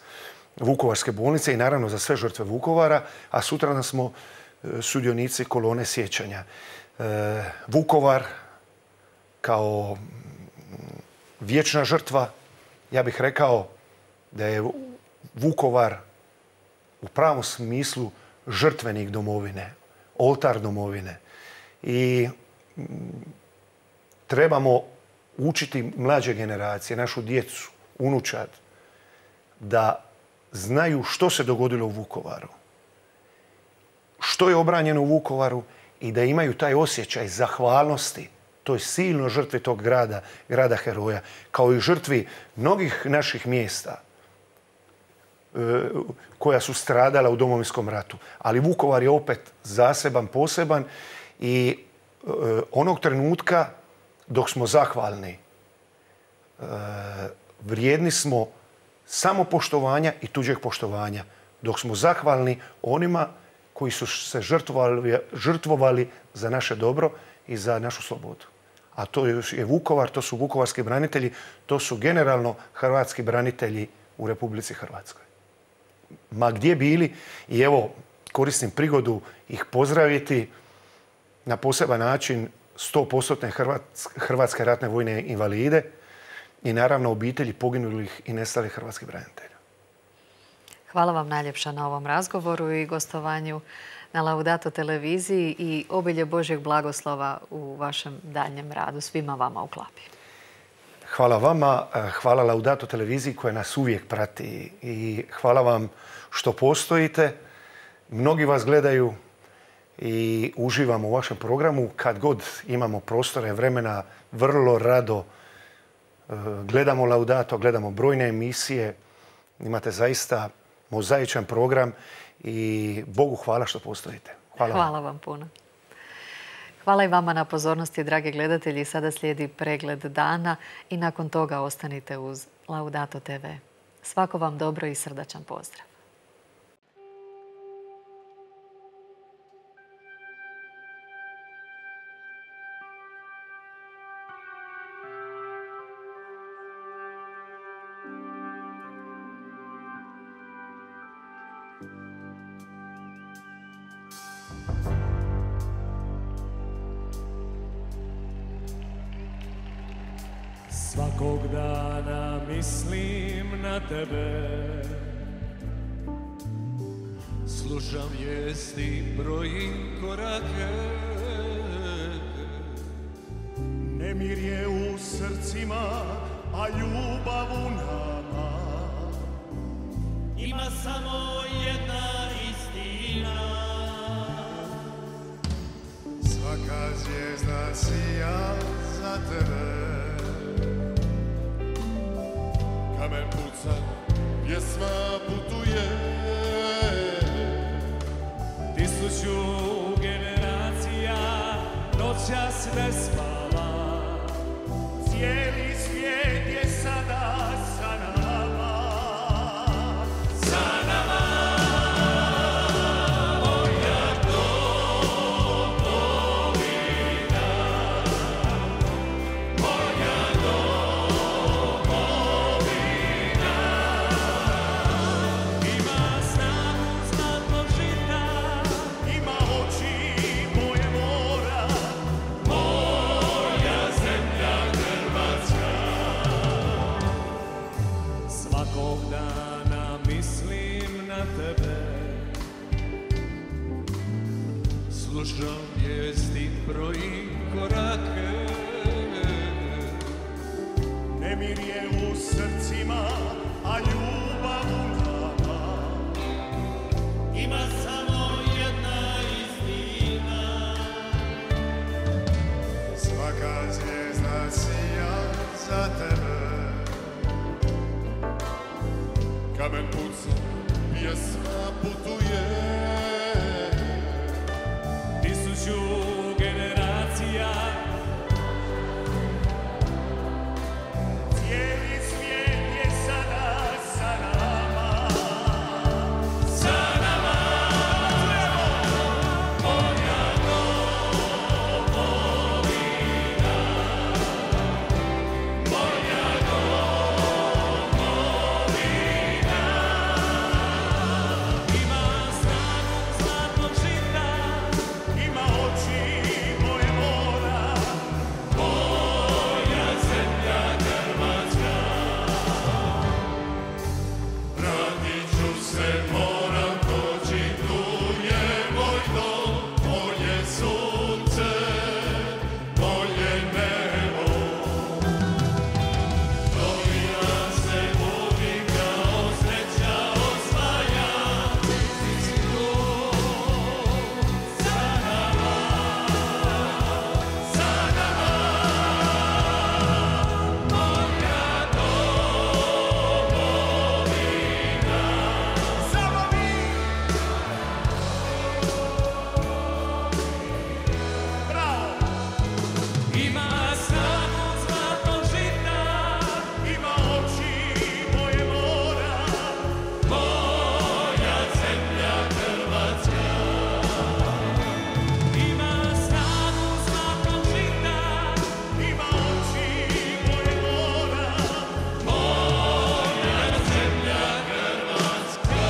Vukovarske bolnice i naravno za sve žrtve Vukovara, a sutra smo sudionici kolone sjećanja. Vukovar kao vječna žrtva, ja bih rekao da je Vukovar u pravom smislu žrtvenik domovine, oltar domovine. I trebamo učiti mlađe generacije, našu djecu, unučad, da znaju što se dogodilo u Vukovaru, što je obranjeno u Vukovaru i da imaju taj osjećaj zahvalnosti toj silno žrtvi tog grada, grada heroja, kao i žrtvi mnogih naših mjesta koja su stradala u Domovinskom ratu. Ali Vukovar je opet zaseban, poseban i onog trenutka dok smo zahvalni, vrijedni smo samopoštovanja i tuđeg poštovanja. Dok smo zahvalni onima koji su se žrtvovali, žrtvovali za naše dobro i za našu slobodu. A to je Vukovar, to su vukovarski branitelji, to su generalno hrvatski branitelji u Republici Hrvatskoj. Ma gdje bili, i evo koristim prigodu ih pozdraviti na poseban način sto posto hrvatske ratne vojne invalide i naravno obitelji poginulih i nestalih hrvatskih branitelja. Hvala vam najljepša na ovom razgovoru i gostovanju na Laudato televiziji i obilje Božjeg blagoslova u vašem daljnjem radu. Svima vama u klapi. Hvala vama, hvala Laudato televiziji koja nas uvijek prati i hvala vam što postojite. Mnogi vas gledaju i uživamo u vašem programu. Kad god imamo prostora i vremena, vrlo rado gledamo Laudato, gledamo brojne emisije. Imate zaista mozaičan program i Bogu hvala što postojite. Hvala, hvala vam puno. Hvala i vama na pozornosti, dragi gledatelji. Sada slijedi pregled dana i nakon toga ostanite uz Laudato te ve. Svako vam dobro i srdačan pozdrav. Svakog dana mislim na tebe, slušam vijesti, brojim korake. Nemir je u srcima, a ljubav u nama. Ima samo jedna istina. Svaka zvijezda sija za tebe. Kamen puca, pjesma putuje. Tisuću generacija noćas ne spava. Cijeli svijet je sada sa nama. Sa nama. Moja domovina, moja domovina. Ima snagu zlatnog žita, ima oči moje mora. Moja zemlja Hrvatska. Svakog dana mislim na tebe, slušam vijesti, brojim korake. Nemir je u srcima, a ljubav u nama ima samo jedna istina. Svaka zvijezda sija za tebe, Kamen puca, pjesma putuje, tisuću generacija. Cijeli svijet je sada sa nama, sa nama. Moja domovina, moja domovina ima snagu zlatnog žita, ima oči moje mora, moja zemlja Hrvatska. Vratit ću se, moram doći, tu je moj dom, moje sunce, moje nebo. Dolina se budi kao sreća osvaja, sa nama, sa nama. Moja domovina, samo mi. Bravo! Ima snagu zlatnog žita, ima oči moje mora, moja zemlja Hrvatska. Ima snagu zlatnog žita, ima oči moje mora, moja zemlja Hrvatska.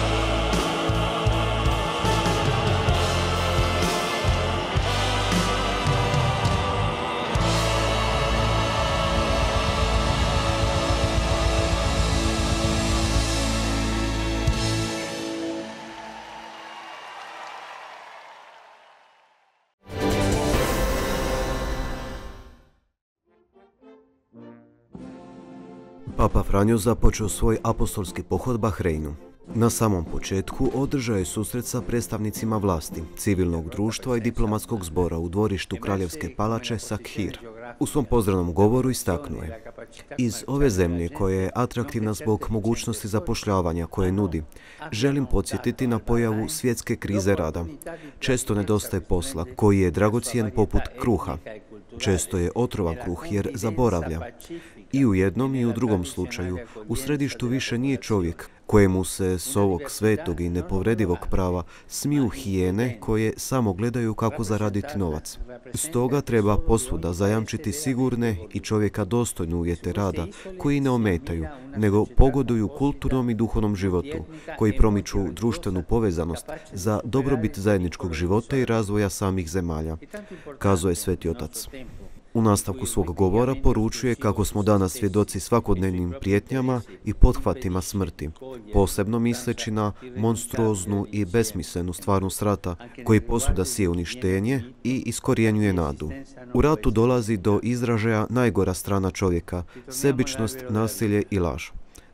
Papa Franjo započeo svoj apostolski pohod Bahreinu. Na samom početku održao je susret sa predstavnicima vlasti, civilnog društva i diplomatskog zbora u dvorištu Kraljevske palače Sakhir. U svom pozdravnom govoru istaknuo je: iz ove zemlje koja je atraktivna zbog mogućnosti zapošljavanja koje nudi, želim podsjetiti na pojavu svjetske krize rada. Često nedostaje posla koji je dragocjen poput kruha. Često je otrovan kruh jer zaboravlja. I u jednom i u drugom slučaju u središtu više nije čovjek kojemu se s ovog svetog i nepobredivog prava smiju hijene koje samo gledaju kako zaraditi novac. Stoga treba posvuda zajamčiti sigurne i čovjeka dostojne uvjete rada koji ne ometaju, nego pogoduju kulturnom i duhovnom životu, koji promiču društvenu povezanost za dobrobit zajedničkog života i razvoja samih zemalja, kazao je Sveti Otac. U nastavku svog govora poručuje kako smo danas svjedoci svakodnevnim prijetnjama i pothvatima smrti, posebno misleći na monstruoznu i besmislenu stvarnost rata koji posvuda sije uništenje i iskorjenjuje nadu. U ratu dolazi do izražaja najgora strana čovjeka, sebičnost, nasilje i laž.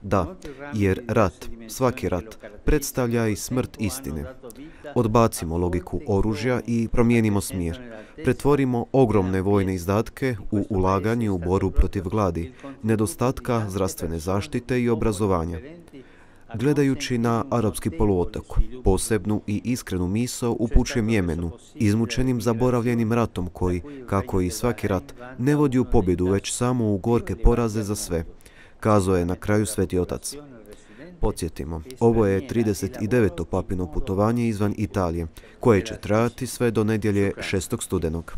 Da, jer rat, svaki rat, predstavlja i smrt istine. Odbacimo logiku oružja i promijenimo smjer. Pretvorimo ogromne vojne izdatke u ulaganje u borbu protiv gladi, nedostatka zdravstvene zaštite i obrazovanja. Gledajući na arapski poluotok, posebnu i iskrenu misao upućujem Jemenu, izmučenim zaboravljenim ratom koji, kako i svaki rat, ne vodi u pobjedu, već samo u gorke poraze za sve, kazao je na kraju Sveti Otac. Podsjetimo, ovo je trideset deveto papino putovanje izvan Italije, koje će trajati sve do nedjelje šestog studenog.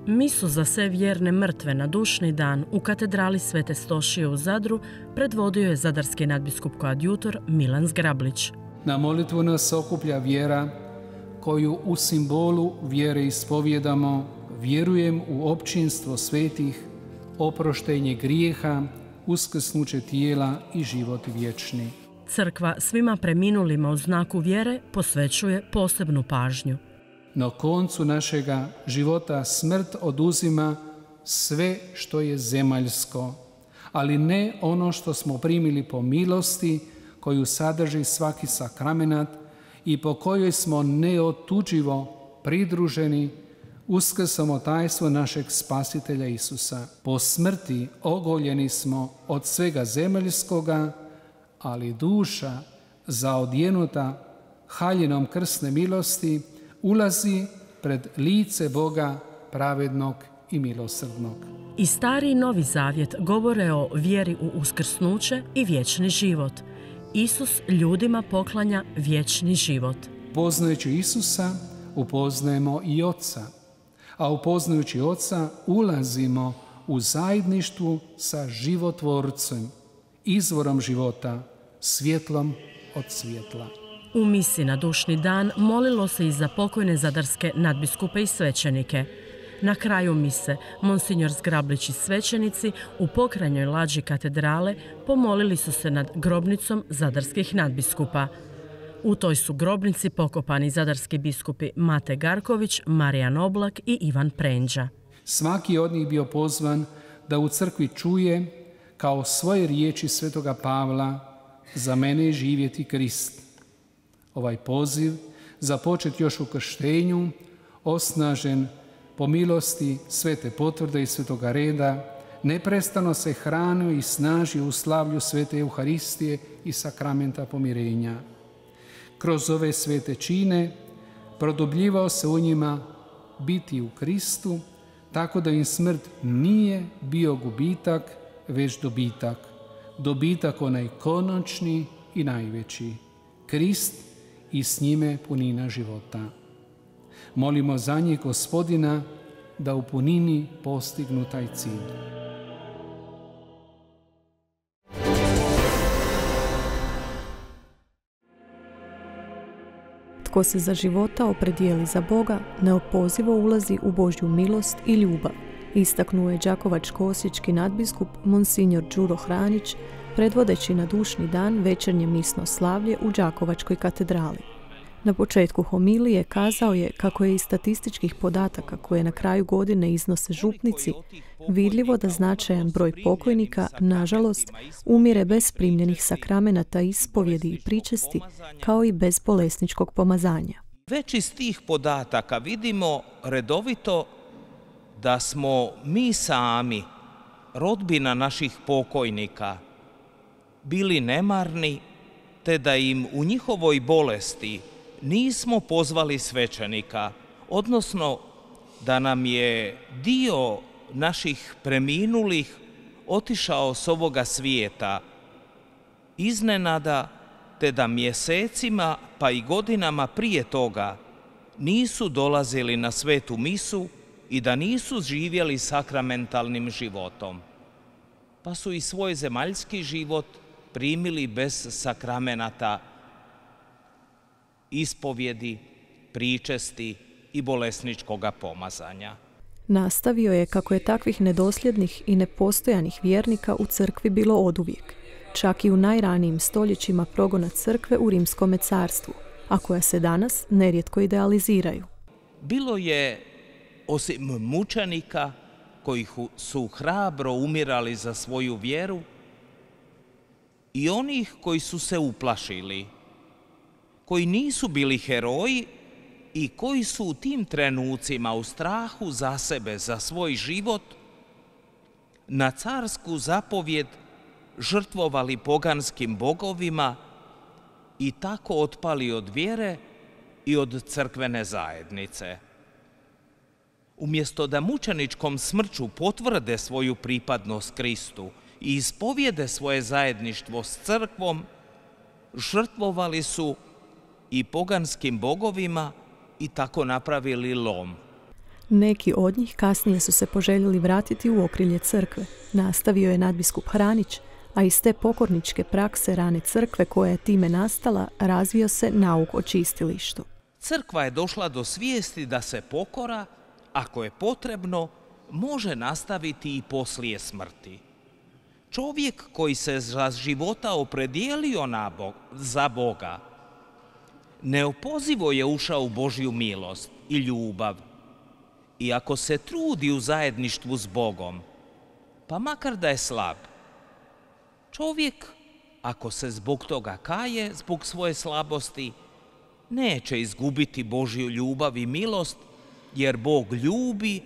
Misu za sve vjerne mrtve na dušni dan u katedrali Svete Stošije u Zadru predvodio je zadarski nadbiskup koadjutor Milan Zgrablić. Na molitvu nas okuplja vjera koju u simbolu vjere ispovjedamo: vjerujem u općinstvo svetih, oproštenje grijeha, uskrsnuće tijela i život vječni. Crkva svima preminulima u znaku vjere posvećuje posebnu pažnju. na koncu našega života smrt oduzima sve što je zemaljsko, ali ne ono što smo primili po milosti koju sadrži svaki sakramenat i po kojoj smo neotuđivo pridruženi uskrsnom tajstvu našeg Spasitelja Isusa. Po smrti ogoljeni smo od svega zemaljskoga, ali duša zaodjenuta haljinom krsne milosti ulazi pred lice Boga pravednog i milosrdnog. I Stari i Novi Zavjet govore o vjeri u uskrsnuće i vječni život. Isus ljudima poklanja vječni život. Poznajući Isusa, upoznajemo i Oca, a upoznajući Oca ulazimo u zajedništvu sa životvorcem, izvorom života, svjetlom od svjetla. U misi na dušni dan molilo se i za pokojne zadarske nadbiskupe i svećenike. Na kraju mise, monsignor Zgrablić i svećenici u pokranjoj lađi katedrale pomolili su se nad grobnicom zadarskih nadbiskupa. U toj su grobnici pokopani zadarski biskupi Mate Garković, Marijan Oblak i Ivan Prenđa. Svaki od njih bio pozvan da u crkvi čuje kao svoje riječi svetoga Pavla: za mene je živjeti Krist. Ovaj poziv, započet još u krštenju, osnažen po milosti svete potvrde i svetoga reda, neprestano se hranio i snažio u slavlju svete Euharistije i sakramenta pomirenja. Kroz ove svete čine produbljivao se u njima biti u Kristu, tako da im smrt nije bio gubitak, već dobitak. Dobitak onaj konačni i najveći. Krist i s njime punina života. Molimo za njih Gospodina da u punini postignu taj cilj. Tko se za života opredijeli za Boga, neopozivo ulazi u Božju milost i ljubav, istaknuo je đakovačko-osječki nadbiskup monsignor Đuro Hranić, predvodeći na dušni dan večernje misno slavlje u Đakovačkoj katedrali. Na početku homilije kazao je kako je iz statističkih podataka koje na kraju godine iznose župnici vidljivo da značajan broj pokojnika, nažalost, umire bez primljenih sakramenata, ispovjedi i pričesti, kao i bez bolesničkog pomazanja. Već iz tih podataka vidimo redovito da smo mi sami, rodbina naših pokojnika, bili nemarni, te da im u njihovoj bolesti nismo pozvali svećenika, odnosno da nam je dio naših preminulih otišao s ovoga svijeta iznenada, te da mjesecima pa i godinama prije toga nisu dolazili na svetu misu i da nisu živjeli sakramentalnim životom, pa su i svoj zemaljski život primili bez sakramenata, ispovjedi, pričesti i bolesničkoga pomazanja. Nastavio je kako je takvih nedosljednih i nepostojanih vjernika u crkvi bilo oduvijek, čak i u najranijim stoljećima progona crkve u Rimskome carstvu, a koja se danas nerijetko idealiziraju. Bilo je, osim mučenika koji su hrabro umirali za svoju vjeru, i onih koji su se uplašili, koji nisu bili heroji i koji su u tim trenucima u strahu za sebe, za svoj život, na carsku zapovjed žrtvovali poganskim bogovima i tako otpali od vjere i od crkvene zajednice. Umjesto da mučeničkom smrću potvrde svoju pripadnost Kristu i ispovjede svoje zajedništvo s crkvom, žrtvovali su i poganskim bogovima i tako napravili lom. Neki od njih kasnije su se poželjeli vratiti u okrilje crkve, nastavio je nadbiskup Hranić, a iz te pokorničke prakse rane crkve koja je time nastala razvio se nauk o čistilištu. Crkva je došla do svijesti da se pokora, ako je potrebno, može nastaviti i poslije smrti. Čovjek koji se za života opredijelio za Boga, neopozivo je ušao u Božju milost i ljubav. I ako se trudi u zajedništvu s Bogom, pa makar da je slab, čovjek, ako se zbog toga kaje, zbog svoje slabosti, neće izgubiti Božju ljubav i milost, jer Bog ljubi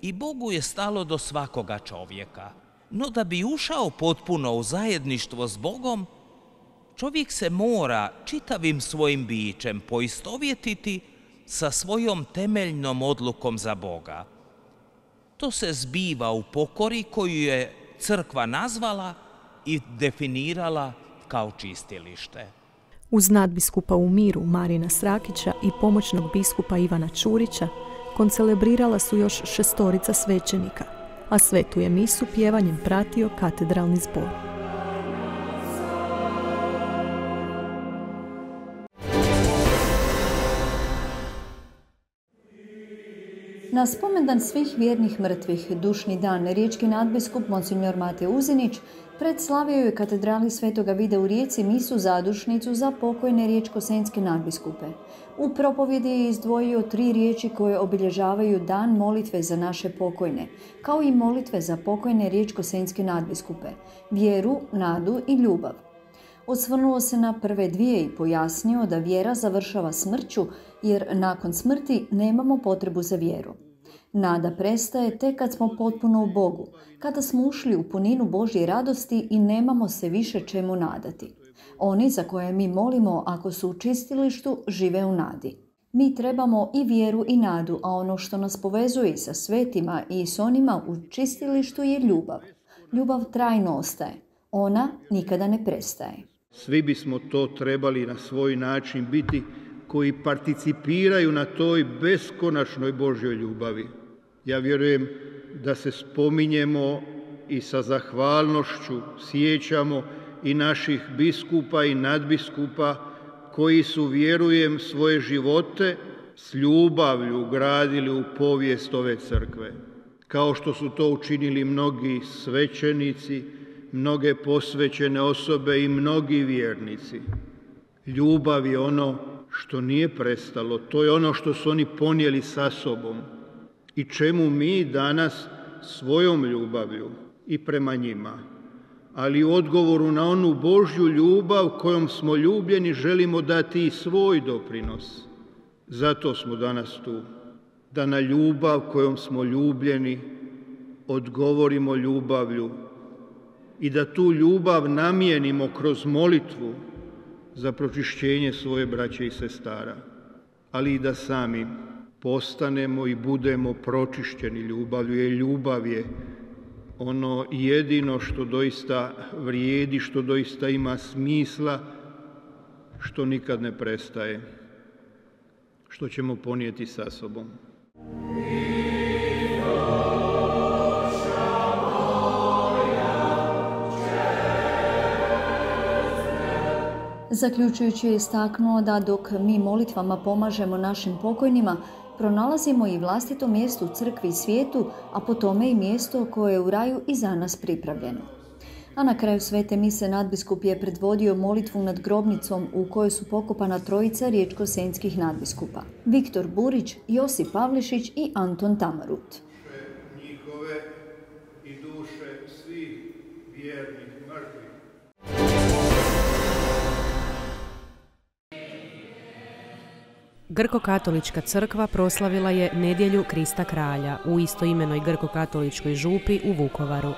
i Bogu je stalo do svakoga čovjeka. No da bi ušao potpuno u zajedništvo s Bogom, čovjek se mora čitavim svojim bićem poistovjetiti sa svojom temeljnom odlukom za Boga. To se zbiva u pokori koju je crkva nazvala i definirala kao čistilište. Uz nadbiskupa u miru Marina Srakića i pomoćnog biskupa Ivana Čurića koncelebrirala su još šestorica svećenika, a svetu je misu pjevanjem pratio katedralni zbor. Na spomendan svih vjernih mrtvih, dušni dan, riječki nadbiskup Monsignor Mate Uzinić predslavio je katedrali Svetoga Vida u Rijeci misu zadušnicu za pokojne riječko-senjske nadbiskupe. U propovjedi je izdvojio tri riječi koje obilježavaju dan molitve za naše pokojne, kao i molitve za pokojne riječko-senjske nadbiskupe, vjeru, nadu i ljubav. Osvrnuo se na prve dvije i pojasnio da vjera završava smrću, jer nakon smrti nemamo potrebu za vjeru. Nada prestaje tek kad smo potpuno u Bogu, kada smo ušli u puninu Božje radosti i nemamo se više čemu nadati. Oni za koje mi molimo, ako su u čistilištu, žive u nadi. Mi trebamo i vjeru i nadu, a ono što nas povezuje sa svetima i s onima u čistilištu je ljubav. Ljubav trajno ostaje. Ona nikada ne prestaje. Svi bismo to trebali na svoj način biti koji participiraju na toj beskonačnoj Božjoj ljubavi. Ja vjerujem da se spominjemo i sa zahvalnošću sjećamo i naših biskupa i nadbiskupa koji su, vjerujem, svoje živote s ljubavlju gradili u povijest ove crkve. Kao što su to učinili mnogi svećenici, mnoge posvećene osobe i mnogi vjernici. Ljubav je ono što nije prestalo, to je ono što su oni ponijeli sa sobom i čemu mi danas svojom ljubavlju i prema njima, ali u odgovoru na onu Božju ljubav kojom smo ljubljeni želimo dati i svoj doprinos. Zato smo danas tu, da na ljubav kojom smo ljubljeni odgovorimo ljubavlju i da tu ljubav namijenimo kroz molitvu za pročišćenje svoje braće i sestara, ali i da sami postanemo i budemo pročišćeni ljubavlju, jer ljubav je ono jedino što doista vrijedi, što doista ima smisla, što nikad ne prestaje, što ćemo ponijeti sa sobom. Zaključujući je istaknuo da dok mi molitvama pomažemo našim pokojnima, pronalazimo i vlastito mjesto u crkvi i svijetu, a po tome i mjesto koje je u raju i za nas pripravljeno. A na kraju svete mise nadbiskup je predvodio molitvu nad grobnicom u kojoj su pokopana trojica riječko-senjskih nadbiskupa: Viktor Burić, Josip Pavlišić i Anton Tamarut. Njihove i duše svih vjernih mrtvih. Grko-katolička crkva proslavila je nedjelju Krista kralja u istoimenoj grko-katoličkoj župi u Vukovaru.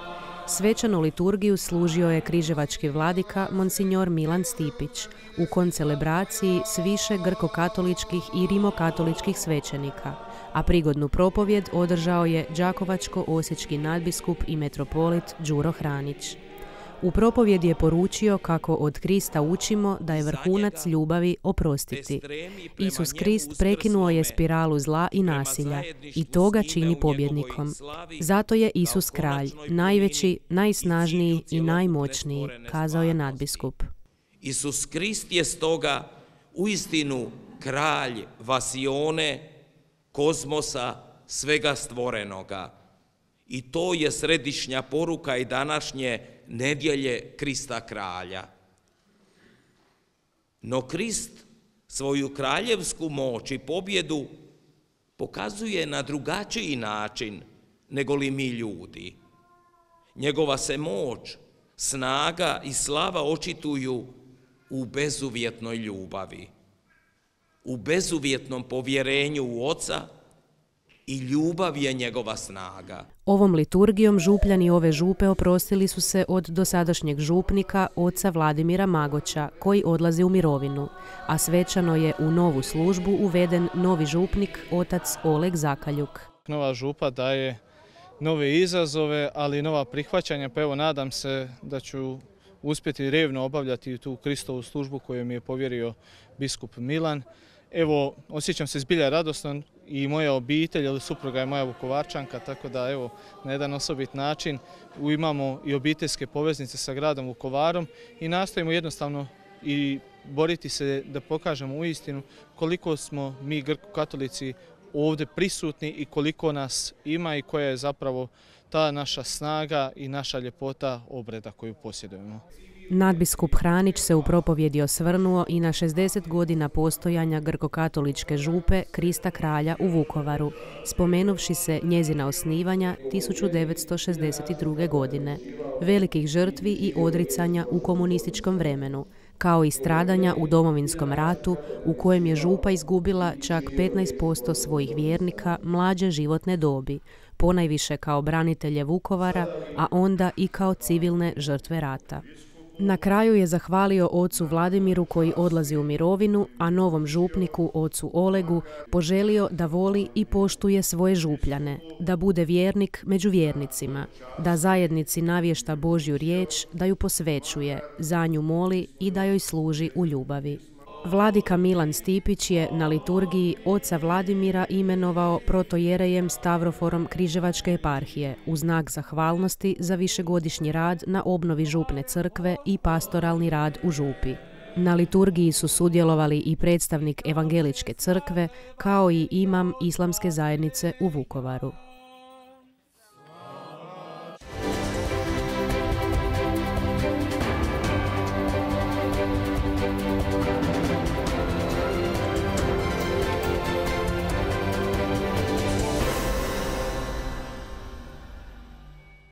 Svečanu liturgiju služio je križevački vladika Monsignor Milan Stipić u koncelebraciji s više grko-katoličkih i rimokatoličkih svećenika, a prigodnu propovjed održao je đakovačko-osječki nadbiskup i metropolit Đuro Hranić. U propovjedi je poručio kako od Krista učimo da je vrhunac ljubavi oprostiti. Isus Krist prekinuo je spiralu zla i nasilja i to ga čini pobjednikom. Zato je Isus kralj, najveći, najsnažniji i najmoćniji, kazao je nadbiskup. Isus Krist je stoga uistinu kralj vasione, kozmosa, svega stvorenoga. I to je središnja poruka i današnje nedjelje Krista kralja. No Krist svoju kraljevsku moć i pobjedu pokazuje na drugačiji način nego li mi ljudi. Njegova se moć, snaga i slava očituju u bezuvjetnoj ljubavi, u bezuvjetnom povjerenju u Oca i ljubav je njegova snaga. Ovom liturgijom župljani ove župe oprostili su se od dosadašnjeg župnika, oca Vladimira Magoća, koji odlazi u mirovinu, a svečano je u novu službu uveden novi župnik, otac Oleg Zakaljuk. Nova župa daje nove izazove, ali i nova prihvaćanja, pa evo nadam se da ću uspjeti revno obavljati tu Kristovu službu koju mi je povjerio biskup Milan. Evo, osjećam se zbilja radosno i moja obitelj, ali supruga je moja Vukovarčanka, tako da evo, na jedan osobit način imamo i obiteljske poveznice sa gradom Vukovarom i nastojimo jednostavno i boriti se da pokažemo uistinu koliko smo mi grko-katolici ovdje prisutni i koliko nas ima i koja je zapravo ta naša snaga i naša ljepota obreda koju posjedujemo. Nadbiskup Hranić se u propovjedi osvrnuo i na šezdeset godina postojanja grko-katoličke župe Krista Kralja u Vukovaru, spomenuvši se njezina osnivanja tisuću devetsto šezdeset druge. godine, velikih žrtvi i odricanja u komunističkom vremenu, kao i stradanja u Domovinskom ratu u kojem je župa izgubila čak petnaest posto svojih vjernika mlađe životne dobi, ponajviše kao branitelje Vukovara, a onda i kao civilne žrtve rata. Na kraju je zahvalio ocu Vladimiru koji odlazi u mirovinu, a novom župniku, ocu Olegu, poželio da voli i poštuje svoje župljane, da bude vjernik među vjernicima, da zajednici navješta Božju riječ, da ju posvećuje, za nju moli i da joj služi u ljubavi. Vladika Milan Stipić je na liturgiji oca Vladimira imenovao protojerejem Stavroforom Križevačke eparhije u znak zahvalnosti za višegodišnji rad na obnovi župne crkve i pastoralni rad u župi. Na liturgiji su sudjelovali i predstavnik Evangeličke crkve kao i imam Islamske zajednice u Vukovaru.